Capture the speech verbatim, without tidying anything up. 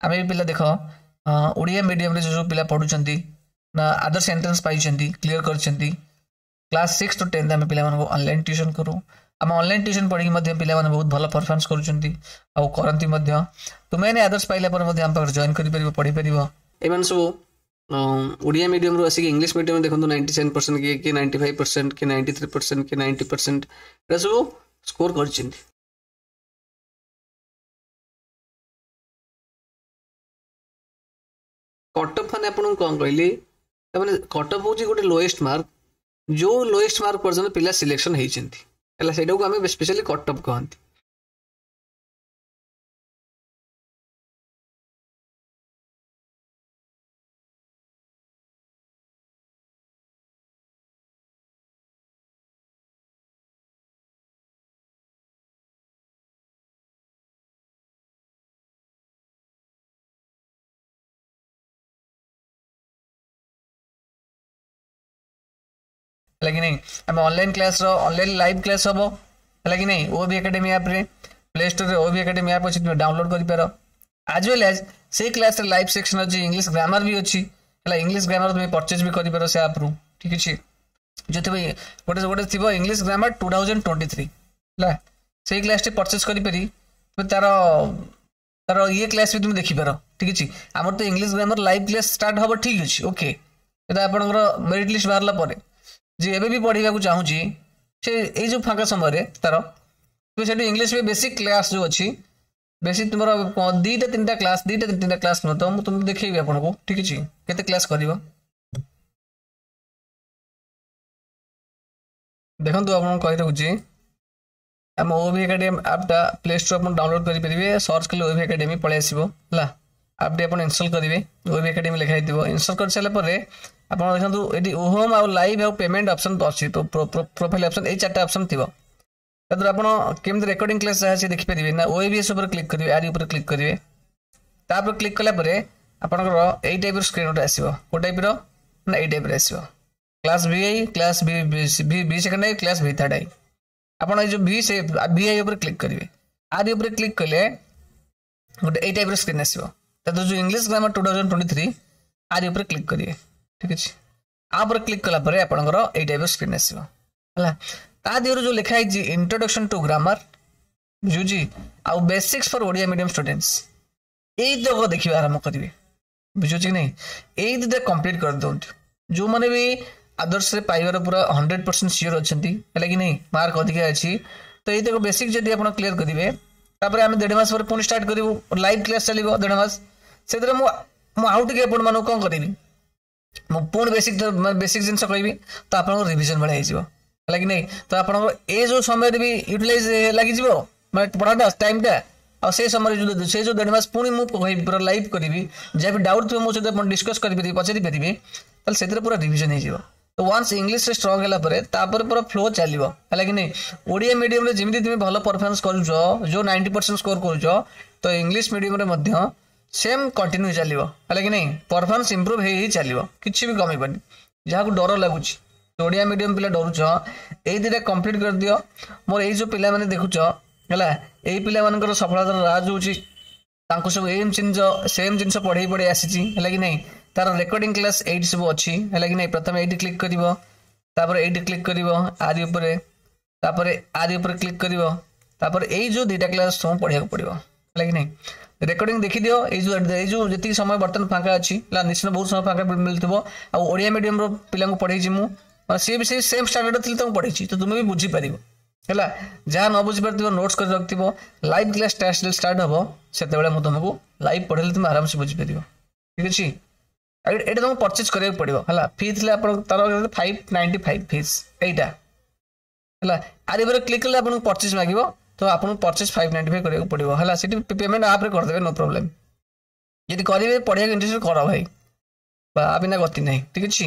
ଆମେ ବି ପିଲା ଦେଖ ଓଡ଼ିଆ ମିଡ଼ିୟମରେ ଯେଉଁ ସବୁ ପିଲା ପଢ଼ୁଛନ୍ତି ନା ଆଦର୍ଶ ଏଣ୍ଟ୍ରାନ୍ସ ପାଇଛନ୍ତି କ୍ଲିୟର କରିଛନ୍ତି କ୍ଲାସ୍ ସିକ୍ସ ଟୁ ଟେନ୍ଥ ଆମେ ପିଲାମାନଙ୍କୁ ଅନଲାଇନ୍ ଟ୍ୟୁସନ୍ କରୁ ଆମ ଅନଲାଇନ୍ ଟ୍ୟୁସନ୍ ପଢ଼ିକି ମଧ୍ୟ ପିଲାମାନେ ବହୁତ ଭଲ ପରଫର୍ମାନ୍ସ କରୁଛନ୍ତି ଆଉ କରନ୍ତି ମଧ୍ୟ ତୁମେମାନେ ଆଦର୍ଶ ପାଇଲା ପରେ ମଧ୍ୟ ଆମ ପାଖରେ ଜଏନ୍ କରିପାରିବ ପଢ଼ିପାରିବ ଏମାନେ ସବୁ ଓଡ଼ିଆ ମିଡ଼ିୟମରୁ ଆସିକି ଇଂଲିଶ ମିଡ଼ିୟମ ଦେଖନ୍ତୁ ନାଇଣ୍ଟି ସେଭେନ୍ ପରସେଣ୍ଟ କିଏ କିଏ ନାଇଣ୍ଟି ଫାଇଭ୍ ପରସେଣ୍ଟ କିଏ ନାଇଣ୍ଟି ଥ୍ରୀ ପରସେଣ୍ଟ କିଏ ନାଇଣ୍ଟି ପରସେଣ୍ଟ ଏଟା ସବୁ ସ୍କୋର କରିଛନ୍ତି କଟଅଫ୍ ମାନେ ଆପଣଙ୍କୁ କ'ଣ କହିଲି ତାମାନେ କଟଅଫ୍ ହେଉଛି ଗୋଟେ ଲୋଏଷ୍ଟ ମାର୍କ ଯେଉଁ ଲୋଏଷ୍ଟ ମାର୍କ ପର୍ଯ୍ୟନ୍ତ ପିଲା ସିଲେକ୍ସନ୍ ହେଇଛନ୍ତି ହେଲା ସେଇଟାକୁ ଆମେ ସ୍ପେଶାଲି କଟଅଫ୍ କହନ୍ତି ହେଲା କି ନାହିଁ ଆମେ ଅନଲାଇନ୍ କ୍ଲାସ୍ର ଅନଲାଇନ୍ ଲାଇଭ୍ କ୍ଲାସ୍ ହେବ ହେଲା କି ନାହିଁ ଓ ଭି ଏକାଡେମୀ ଆପ୍ରେ ପ୍ଲେ ଷ୍ଟୋରରେ ଓ ଭି ଏକାଡେମୀ ଆପ୍ ଅଛି ତୁମେ ଡାଉନଲୋଡ୍ କରିପାର ଆଜ୍ ୱେଲ୍ ଆଜ୍ ସେଇ କ୍ଲାସ୍ରେ ଲାଇଭ୍ ସେକ୍ସନ୍ ଅଛି ଇଂଲିଶ ଗ୍ରାମାର ବି ଅଛି ହେଲା ଇଂଲିଶ ଗ୍ରାମାର ତୁମେ ପରଚେଜ୍ ବି କରିପାର ସେ ଆପ୍ରୁ ଠିକ୍ ଅଛି ଯେଉଁଥିପାଇଁ ଗୋଟେ ଗୋଟେ ଥିବ English grammar two thousand twenty three ହେଲା ସେଇ କ୍ଲାସ୍ଟି ପରଚେଜ୍ କରିପାରି ତୁମେ ତାର ତାର ଇଏ କ୍ଲାସ୍ ବି ତୁମେ ଦେଖିପାର ଠିକ୍ ଅଛି ଆମର ତ English grammar live class start ହେବ ଠିକ୍ ଅଛି ଓକେ ଏଇଟା ଆପଣଙ୍କର ମେରିଟ୍ ଲିଷ୍ଟ ବାହାରିଲା ପରେ ଯିଏ ଏବେ ବି ପଢ଼ିବାକୁ ଚାହୁଁଛି ସେ ଏଇ ଯେଉଁ ଫାଙ୍କା ସମୟରେ ତାର ତୁମେ ସେଠି ଇଂଲିଶ ବି ବେସିକ୍ କ୍ଲାସ୍ ଯେଉଁ ଅଛି ବେଶୀ ତୁମର ଦୁଇଟା ତିନିଟା କ୍ଲାସ୍ ଦୁଇଟା ତିନିଟା କ୍ଲାସ୍ ନୁହଁ ତ ମୁଁ ତୁମକୁ ଦେଖେଇବି ଆପଣଙ୍କୁ ଠିକ୍ ଅଛି କେତେ କ୍ଲାସ୍ କରିବ ଦେଖନ୍ତୁ ଆପଣଙ୍କୁ କହି ରଖୁଛି ଆମ ଓ ଭି ଏକାଡେମୀ ଆପ୍ଟା ପ୍ଲେ ଷ୍ଟୋର୍ ଆପଣ ଡାଉନଲୋଡ୍ କରିପାରିବେ ସର୍ଚ୍ଚ କଲେ ଓ ଭି ଏକାଡେମୀ ପଳେଇ ଆସିବ ହେଲା ଆପ୍ଟି ଆପଣ ଇନଷ୍ଟଲ୍ କରିବେ ଓ ଭି ଏକାଡେମୀ ଲେଖା ହେଇଥିବ ଇନଷ୍ଟଲ୍ କରିସାରିଲା ପରେ ଆପଣ ଦେଖନ୍ତୁ ଏଠି ହୋମ୍ ଆଉ ଲାଇଭ୍ ଆଉ ପେମେଣ୍ଟ ଅପସନ୍ ଅଛି ପ୍ରୋଫାଇଲ୍ ଅପସନ୍ ଏଇ ଚାରିଟା ଅପସନ୍ ଥିବ ତାଦ୍ୱାରା ଆପଣ କେମିତି ରେକର୍ଡ଼ିଂ କ୍ଲାସ୍ ଯାହା ଅଛି ଦେଖିପାରିବେ ନା ଓଏଭିଏସ୍ ଉପରେ କ୍ଲିକ୍ କରିବେ ଆରି ଉପରେ କ୍ଲିକ୍ କରିବେ ତାପରେ କ୍ଲିକ୍ କଲା ପରେ ଆପଣଙ୍କର ଏଇ ଟାଇପ୍ର ସ୍କ୍ରିନ୍ ଗୋଟେ ଆସିବ କେଉଁ ଟାଇପ୍ର ନା ଏଇ ଟାଇପ୍ର ଆସିବ class V I class V V second I class V third I ଆପଣ ଏଇ ଯେଉଁ ଭି ସେ ଭି I ଉପରେ କ୍ଲିକ୍ କରିବେ ଆରି ଉପରେ କ୍ଲିକ୍ କଲେ ଗୋଟେ ଏଇ ଟାଇପ୍ର ସ୍କ୍ରିନ୍ ଆସିବ ତା ଯେଉଁ English grammar two thousand twenty three ଆରି ଉପରେ କ୍ଲିକ୍ କରିବେ ଠିକ୍ ଅଛି ଆ ଉପରେ କ୍ଲିକ୍ କଲା ପରେ ଆପଣଙ୍କର ଏଇ ଟାଇପ୍ର ସ୍କ୍ରିନ୍ ଆସିବ ହେଲା ତା ଦେହରୁ ଯେଉଁ ଲେଖା ହେଇଛି ଇଣ୍ଟ୍ରୋଡକ୍ସନ୍ ଟୁ ଗ୍ରାମାର ବୁଝୁଛି ଆଉ basics for Odia medium students ଏଇ ତକ ଦେଖିବା ଆରମ୍ଭ କରିବେ ବୁଝୁଛି କି ନାହିଁ ଏଇ ଦୁଇଟା କମ୍ପ୍ଲିଟ୍ କରିଦିଅନ୍ତୁ ଯେଉଁମାନେ ବି ଆଦର୍ଶରେ ପାଇବାର ପୁରା ହଣ୍ଡ୍ରେଡ଼ ପରସେଣ୍ଟ ସିଓର ଅଛନ୍ତି ହେଲା କି ନାହିଁ ମାର୍କ ଅଧିକା ଅଛି ତ ଏଇ ତକ ବେସିକ୍ ଯଦି ଆପଣ କ୍ଲିୟର କରିବେ ତାପରେ ଆମେ ଦେଢ଼ ମାସ ପରେ ପୁଣି ଷ୍ଟାର୍ଟ କରିବୁ ଲାଇଭ୍ କ୍ଲାସ୍ ଚାଲିବ ଦେଢ଼ ମାସ ସେଥିରେ ମୁଁ ମୁଁ ଆଉ ଟିକେ ଆପଣମାନଙ୍କୁ କ'ଣ କରିବି ମୁଁ ପୁଣି ବେସିକ୍ ବେସିକ୍ ଜିନିଷ କହିବି ତ ଆପଣଙ୍କର ରିଭିଜନ୍ ଭଳିଆ ହେଇଯିବ ହେଲା କି ନାହିଁ ତ ଆପଣଙ୍କର ଏ ଯେଉଁ ସମୟରେ ବି ୟୁଟିଲାଇଜ୍ ଲାଗିଯିବ ମାନେ ପଢ଼ାଟା ଟାଇମ୍ଟା ଆଉ ସେ ସମୟରେ ଯେଉଁ ସେ ଯେଉଁ ଦେଢ଼ ମାସ ପୁଣି ମୁଁ କହିବି ପୁରା ଲାଇଭ୍ କରିବି ଯାହା ବି ଡାଉଟ୍ ଥିବ ମୋ ସହିତ ଆପଣ ଡିସ୍କସ୍ କରିପାରିବେ ପଚାରି ପାରିବେ ତାହେଲେ ସେଥିରେ ପୁରା ରିଭିଜନ୍ ହେଇଯିବ ତ ୱାନ୍ସ ଇଂଲିଶରେ ଷ୍ଟ୍ରଙ୍ଗ ହେଲା ପରେ ତାପରେ ପୁରା ଫ୍ଲୋ ଚାଲିବ ହେଲା କି ନାହିଁ ଓଡ଼ିଆ ମିଡ଼ିୟମରେ ଯେମିତି ତୁମେ ଭଲ ପରଫର୍ମାନ୍ସ କରୁଛ ଯେଉଁ ନାଇଣ୍ଟି ପରସେଣ୍ଟ ସ୍କୋର କରୁଛ ତ ଇଂଲିଶ ମିଡ଼ିୟମରେ ମଧ୍ୟ ସେମ୍ କଣ୍ଟିନ୍ୟୁ ଚାଲିବ ହେଲା କି ନାହିଁ ପରଫର୍ମାନ୍ସ ଇମ୍ପ୍ରୁଭ୍ ହେଇ ହେଇ ଚାଲିବ କିଛି ବି କମିବନି ଯାହାକୁ ଡର ଲାଗୁଛି ଓଡ଼ିଆ ମିଡ଼ିୟମ ପିଲା ଡରୁଛ ଏଇ ଦୁଇଟା କମ୍ପ୍ଲିଟ୍ କରିଦିଅ ମୋର ଏଇ ଯେଉଁ ପିଲାମାନେ ଦେଖୁଛ ହେଲା ଏଇ ପିଲାମାନଙ୍କର ସଫଳତାର ରାଜ ହେଉଛି ତାଙ୍କୁ ସବୁ ଏମ୍ ଜିନିଷ ସେମ୍ ଜିନିଷ ପଢ଼େଇ ପଢ଼େଇ ଆସିଛି ହେଲା କି ନାହିଁ ତାର ରେକର୍ଡ଼ିଂ କ୍ଲାସ୍ ଏଇଠି ସବୁ ଅଛି ହେଲା କି ନାହିଁ ପ୍ରଥମେ ଏଇଠି କ୍ଲିକ୍ କରିବ ତାପରେ ଏଇଠି କ୍ଲିକ୍ କରିବ ଆରି ଉପରେ ତାପରେ ଆରି ଉପରେ କ୍ଲିକ୍ କରିବ ତାପରେ ଏଇ ଯେଉଁ ଦୁଇଟା କ୍ଲାସ୍ ସବୁ ପଢ଼ିବାକୁ ପଡ଼ିବ ହେଲା କି ନାହିଁ ରେକର୍ଡ଼ିଂ ଦେଖିଦିଅ ଏଇ ଯେଉଁ ଏଇ ଯେଉଁ ଯେତିକି ସମୟ ବର୍ତ୍ତମାନ ଫାଙ୍କା ଅଛି ହେଲା ନିଶ୍ଚିତ ବହୁତ ସମୟ ଫାଙ୍କା ମିଳୁଥିବ ଆଉ ଓଡ଼ିଆ ମିଡ଼ିୟମର ପିଲାଙ୍କୁ ପଢ଼େଇଛି ମୁଁ ମାନେ ସିଏ ବି ସେଇ ସେମ୍ ଷ୍ଟାଣ୍ଡାର୍ଡ଼ ଥିଲେ ତାଙ୍କୁ ପଢ଼େଇଛି ତ ତୁମେ ବି ବୁଝିପାରିବ ହେଲା ଯାହା ନ ବୁଝିପାରୁଥିବ ନୋଟ୍ସ କରି ରଖିଥିବ ଲାଇଭ୍ କ୍ଲାସ୍ ଷ୍ଟାର୍ଟ ହେବ ସେତେବେଳେ ମୁଁ ତୁମକୁ ଲାଇଭ୍ ପଢ଼େଇଲେ ତୁମେ ଆରାମସେ ବୁଝିପାରିବ ଠିକ୍ ଅଛି ଏଇଟା ତୁମକୁ ପରଚେଜ୍ କରିବାକୁ ପଡ଼ିବ ହେଲା ଫି ଥିଲେ ଆପଣ ତାର ଫାଇଭ୍ ନାଇଣ୍ଟି ଫାଇଭ୍ ଫିସ୍ ଏଇଟା ହେଲା ଆରି ଉପରେ କ୍ଲିକ୍ କଲେ ଆପଣଙ୍କୁ ପରଚେଜ୍ ମାଗିବ ତ ଆପଣଙ୍କୁ ପରଚେଜ୍ ଫାଇଭ୍ ନାଇଣ୍ଟି ଫାଇଭ୍ କରିବାକୁ ପଡ଼ିବ ହେଲା ସେଠି ପେମେଣ୍ଟ ଆପ୍ରେ କରିଦେବେ ନୋ ପ୍ରୋବ୍ଲେମ୍ ଯଦି କରିବେ ପଢ଼ିବାକୁ ଇଣ୍ଟରେଷ୍ଟ କର ଭାଇ ବା ବିନା ଗତି ନାହିଁ ଠିକ୍ ଅଛି